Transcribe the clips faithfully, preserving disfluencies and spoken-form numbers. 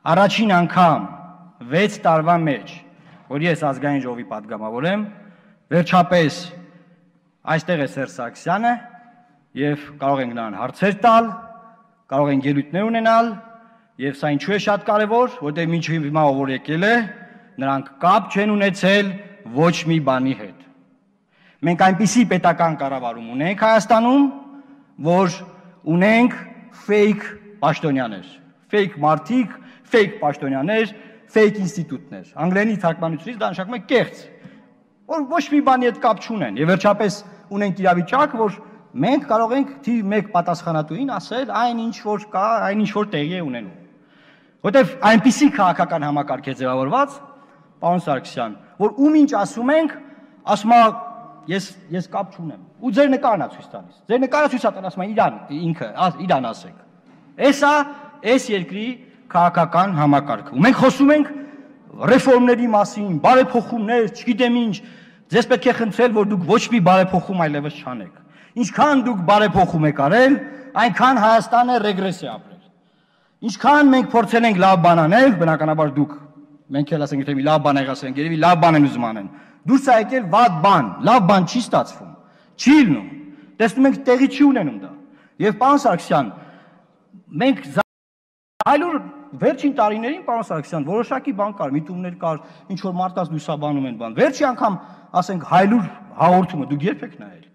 Առաջին անգամ վեց տարվա մեջ, որ ես ազգային ժողովի պատգամավոր եմ, վերջապես այստեղ է Սերժ Սարգսյանը եւ կարող ենք նրան հարցեր տալ, կարող ենք ելույթներ ունենալ եւ սա ինչու է շատ կարեւոր, որտեղ մինչև հիմա ով եկել է, նրանք կապ չեն ունեցել ոչ մի բանի հետ։ Մենք այնպիսի պետական կառավարում ունենք Հայաստանում, որ ունենք fake պաշտոնյաներ, fake մարդիկ, fake պաշտոնյաներ, fake ինստիտուտներ։ Անգլերենի թարգմանությունից դա նշանակում է կեղծ, որ ոչ մի բանի հետ կապ չունեն։ Եվ վերջապես ունենք իրավիճակ, որ մենք կարող ենք թիվ մեկ պատասխանատուին ասել այն ինչ որ կա, այն ինչ որ տեղի է ունենում։ Որտեվ այնպիսի քաղաքական համակարգ է ձևավորված, պարոն Սարգսյան, որ ում ինչ ասում ենք, ասում է ես ես կապ չունեմ։ Ու ձեր նկարն է ցույց տալիս։ Ձեր նկարը ցույց է տալիս, ասում է իրան ինքը, իրան ասեք։ Էսա այս երկրի քաղաքական համակարգը։ Ու մենք խոսում ենք ռեֆորմների մասին, բարեփոխումներ, չգիտեմ ինչ, ձեզ պետք է խնդրել, որ դուք ոչ մի բարեփոխում այլևս չանեք։ Ինչքան դուք բարեփոխում եք արել, այնքան Հայաստանը ռեգրես է ապրել։ Ինչքան մենք փորձել ենք լավ բան անել, բնականաբար դուք, մենք էլ ասենք, թե մի լավ բան եք ասենք, երևի լավ բան են ուզում անեն։ Դուրս է եկել վատ բան, լավ բան չի ստացվում, չի լինում։ Տեսնում ենք տեղի չի ունենում դա։ Եվ պարոն Սարգսյան, մենք այլուր վերջին տարիներին, պարոն Սարգսյան, որոշակի բան կար, միտումներ կար, ինչ որ մարդկանց լուսաբանում են բան։ Վերջի անգամ, ասենք, հայլուր հաղորդումը դուք երբ եք նայել։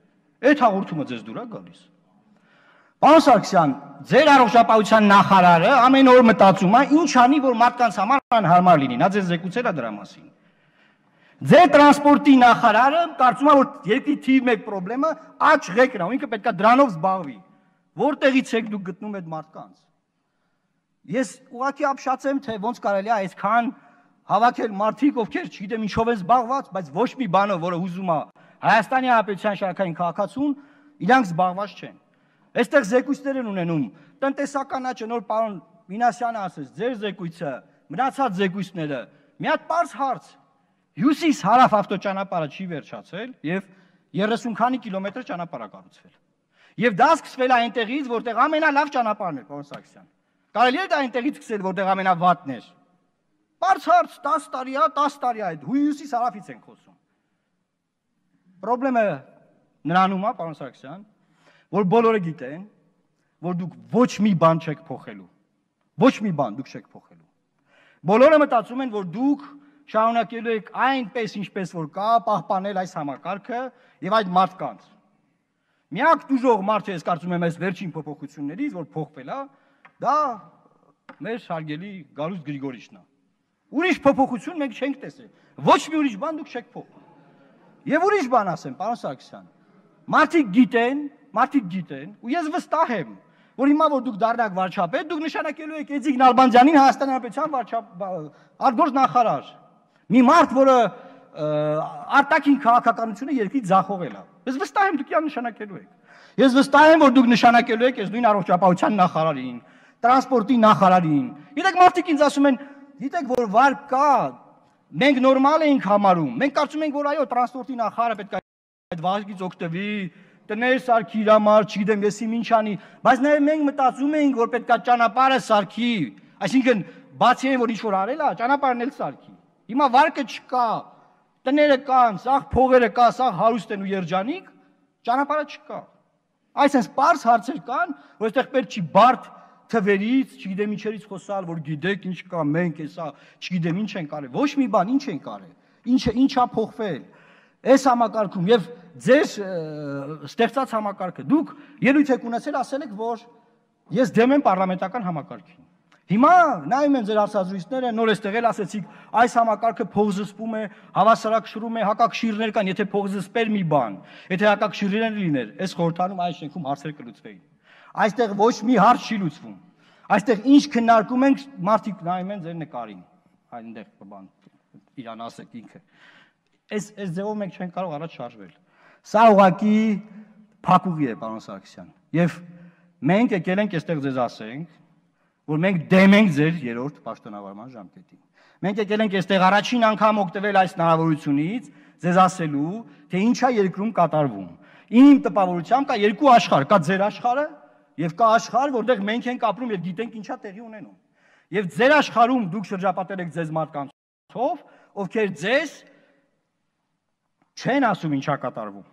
Այդ հաղորդումը ձեզ դուր է գալիս։ Պարոն Սարգսյան, ձեր առողջապահության նախարարը ամեն օր մտածում է ինչ անի, որ մարդկանց համար անհարմար լինի, նա ձեզ զեկուցել է դրա մասին։ Ձեր տրանսպորտի նախարարը կարծում է, որ երկրի թիվ մեկ պրոբլեմը աճ ղեկն է, ինքը պետք է դրանով զբաղվի։ Որտեղից եք դուք գտնում այդ մարդկանց։ Ես ուղղակի ապշացեմ, թե ոնց կարելի է այսքան հավաքել մարդիկ, ովքեր չգիտեմ ինչով են զբաղված, բայց ոչ մի բանով, որը ուզում է Հայաստանի Հանրապետության շարքային քաղաքացուն, իրանք զբաղված չեն։ Այստեղ զեկույցներ են ունենում, տնտեսական աճը, նոր պարոն Մինասյանը ասեց, ձեր զեկույցը, մնացած զեկույցները, մի հատ պարզ հարց, հյուսիս հարավ ավտոճանապարհը չի վերջացել եւ երեսուն քանի կիլոմետր ճանապարհ է կառուցվել։ Եվ դա սկսվել է այնտեղից, որտեղ ամենալավ ճանապարհն է, պարոն Սարգսյան։ Կարելի է դա այնտեղից սկսել, որտեղ ամենավատն էր։ Պարզ հարց, տասը տարի է, տասը տարի է, հյուսիս հարավից ենք խոսում։ Պրոբլեմը նրանում է, պարոն Սարգսյան, որ բոլորը գիտեն, որ դուք ոչ մի բան չեք փոխելու։ Ոչ մի բան դուք չեք փոխելու։ Բոլորը մտածում են, որ դուք շարունակելու եք այնպես, ինչպես որ կա, պահպանել այս համակարգը եւ այդ մարդկանց։ Միակ դժող մարդը, ես կարծում եմ, այս վերջին փոփոխություններից, որ փոխվել է, դա մեր հարգելի Գալուստ Գրիգորիչն է։ Ուրիշ փոփոխություն մենք չենք տեսել։ Ոչ մի ուրիշ բան դուք չեք փոխել։ Եվ ուրիշ բան ասեմ, պարոն Սարգսյան, մարդիկ գիտեն, մարդիկ գիտեն, ու ես վստահ եմ, որ հիմա որ դուք դառնաք վարչապետ, դուք նշանակելու եք Էդիկ Նալբանդյանին Հայաստանի Հանրապետության արտգործ նախարար։ Մի մարդ, որը արտաքին քաղաքականությունը երկրի ձախողել է։ Ես վստահ եմ դուք իրան նշանակելու եք։ Ես վստահ եմ, որ դուք նշանակելու եք այս նույն առողջապահության նախարարին, տրանսպորտի նախարարին։ Գիտեք, մարդիկ ինձ ասում են, գիտեք, որ վար կա, մենք նորմալ ենք համարում։ Մենք կարծում ենք, որ այո, տրանսպորտի նախարարը պետք է այդ վարկից օգտվի, տներ սարքի իր համար, չգիտեմ, եսի ինչ անի, բայց նաև մենք մտածում ենք, որ պետք է ճանապարհը սարքի, այսինքն բացի այն, որ ինչ-որ արել է, ճանապարհն էլ սարքի։ Հիմա վարկը չկա, տները կան, սաղ փողերը կա, սաղ հարուստ են ու երջանիկ, ճանապարհը չկա։ Այսինքն պարզ հարցեր կան, որ այստեղ պետք չի բարդ թվերից, չգիտեմ ինչերից խոսալ, որ գիտեք ինչ կա, մենք հեսա, չգիտեմ ինչ են կարել, ոչ մի բան ինչ են կարել, ինչը ինչա փոխվել։ Այս համակարգում եւ ձեր ստեղծած համակարգը դուք ելույթ եք ունեցել, ասել եք, որ ես դեմ եմ պարլամենտական համակարգին։ Հիմա նայում եմ ձեր հարցազրույցները, նոր էստեղ էլ ասեցիք, այս համակարգը փոխզսպում է, հավասարակշռում է, հակակշիռներ կան, եթե փոխզսպեր մի բան, եթե հակակշիռներ լիներ, այս խորհրդանում այս շենքում հարցեր կլուծվեին։ Այստեղ ոչ մի հարց չի լուծվում։ Այստեղ ինչ քննարկում ենք, մարդիկ նայում են ձեր նկարին, այնտեղ բան իրան ասեք ինքը։ Այս այս ձևով մենք չենք կարող առաջ շարժվել։ Սա ուղղակի փակուղի է, պարոն Սարգսյան։ Եվ մենք եկել ենք այստեղ ձեզ ասենք, որ մենք դեմ ենք ձեր երրորդ պաշտոնավարման ժամկետին։ Մենք եկել ենք այստեղ առաջին անգամ օգտվել այս հնարավորությունից, ձեզ ասելու, թե ինչ է երկրում կատարվում։ Իմ տպավորությամբ կա երկու աշխարհ, կա ձեր աշխարհը եւ կա աշխարհ, որտեղ մենք ենք ապրում եւ գիտենք ինչա տեղի ունենում։ եւ ձեր աշխարհում դուք շրջապատել եք ձեզ մարդկանցով, ովքեր ձեզ չեն ասում ինչա կատարվում։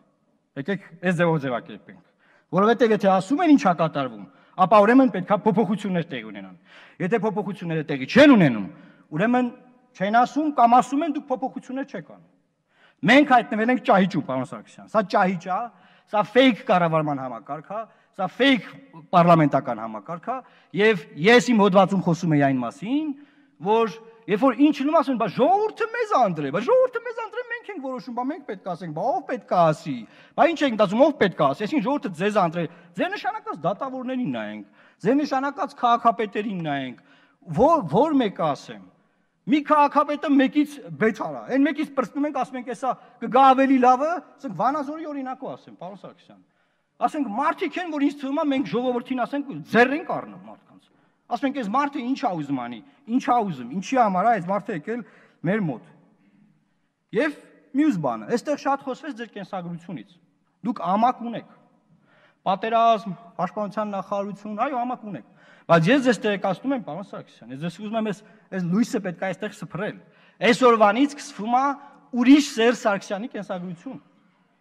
Եկեք այս ձևով ձևակերպենք, որովհետեւ եթե ասում են ինչա կատարվում, ապա ուրեմն պետքա փոփոխություններ տեղի ունենան։ Եթե փոփոխությունները տեղի չեն ունենում, ուրեմն չեն ասում կամ ասում են դուք փոփոխություններ չեք անում։ Մենք հայտնվել ենք ճահիճում, պարոն Սարգսյան։ Սա ճահիճ է, սա ֆեյք կառավարման համակարգ է, սա ֆեյք պարլամենտական համակարգ է, եւ ես իմ հոդվածում խոսում եի այն մասին, որ երբ որ ինչ լինում ասում են, բա ժողովուրդը մեզ անդրե, բա ժողովուրդը մեզ անդրե, մենք ենք որոշում, բա մենք պետք է ասենք, բա ով պետք է ասի, բա ինչ ենք դասում, ով պետք է ասի, այսինքն ժողովուրդը ձեզ անդրե, ձեր նշանակած դատավորներին նայենք, ձեր նշանակած քաղաքապետերին նայենք, որ որ մեկը ասեմ։ Մի քաղաքապետը մեկից բեթարա, այն մեկից պրծնում ենք, ասում ենք, էսա կգա ավելի լավը, ասենք Վանաձորի օրինակով ասեմ, պարոն Սարգսյան։ Ասենք մարդիկ են, որ ինձ թվում է մենք ժողովրդին ասենք ձեռ ենք առնում մարդկանց։ Ասում ենք, այս մարդը ինչ է ուզում անի, ինչ է ուզում, ինչի համար է այս մարդը եկել մեր մոտ։ Եվ մյուս բանը, այստեղ շատ խոսվեց ձեր կենսագրությունից։ Դուք ամակ ունեք։ Պատերազմ, պաշտպանության նախարարություն, այո, ամակ ունեք։ Բայց ես ձեզ տեղեկացնում եմ, պարոն Սարգսյան, ես ձեզ ուզում եմ այս այս լույսը պետք է այստեղ սփռել։ Այսօրվանից սկսվում է ուրիշ Սերժ Սարգսյանի կենսագրություն,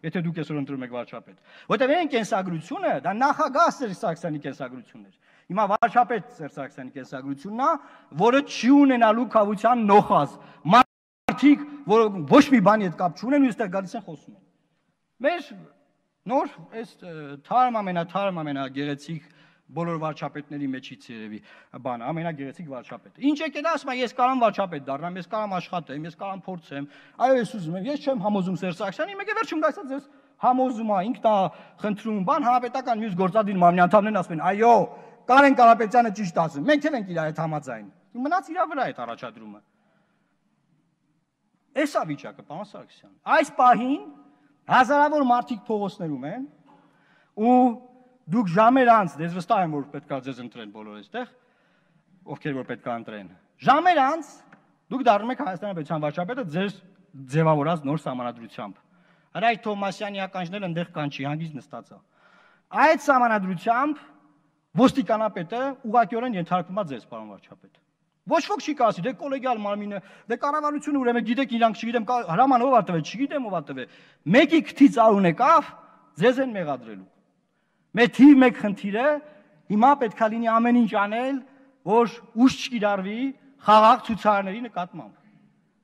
եթե դուք այսօր ընտրում եք վարչապետ։ Որտեղ այն կենսագրությունը դա նախագահ Սերժ Սարգսյանի կենսագրությունն էր։ Հիմա վարչապետ Սերժ Սարգսյանի կենսագրությունն է, որը չի ունենալու կավության նոխազ։ Մարդիկ, որ ոչ մի բանի հետ կապ չունեն ու այստեղ գալիս են խոսում են։ Մեր նոր այս թարմ ամենաթարմ ամենագեղեցիկ բոլոր վարչապետների մեջից երևի բանը, ամենագեղեցիկ վարչապետը։ Ինչ եկել ասում, ես կարամ վարչապետ դառնամ, ես կարամ աշխատեմ, ես կարամ փորձեմ։ Այո, ես ուզում եմ, ես չեմ համոզում Սերժ Սարգսյանին, մեկ է վերջում գայսա ձեզ համոզում է, ինքն է խնդրում, բան հանրապետական մյուս գործադիր մարմնի անդամներն ասում են, այո, Կարեն Կարապետյանը ճիշտ ասում, մենք էլ ենք իր հետ համաձայն։ Մնաց իր վրա այդ առաջադրումը։ Էս է վիճակը, պարոն Սարգսյան։ Այս պահին հազարավոր մարդիկ փողոցներում են ու դուք ժամեր անց, ես վստահ եմ, որ պետք է ձեզ ընտրեն բոլոր այստեղ, ովքեր որ պետք է ընտրեն։ Ժամեր անց դուք դառնում եք Հայաստանի Հանրապետության վարչապետը ձեր ձևավորած նոր սահմանադրությամբ։ Հրայր Թովմասյանի ականջները այնտեղ կան չի, հանգիստ նստած է։ Այդ սահմանադրությամբ ոստիկանապետը ուղղակիորեն ենթարկվում է ձեզ, պարոն վարչապետ։ Ոչ ոք չի կասի, դե կոլեգիալ մարմինը, դե կառավարությունը ուրեմն գիտեք իրանք չգիտեմ, հրաման ով ա տվել, չգիտեմ ով ա տվել։ Մեկի քթից արուն եկավ, ձեզ են մեղադրելու։ Մեր թիվ մեկ խնդիրը հիմա պետք է լինի ամեն ինչ անել, որ ուժ չկիրառվի խաղաղ ցուցարարների նկատմամբ։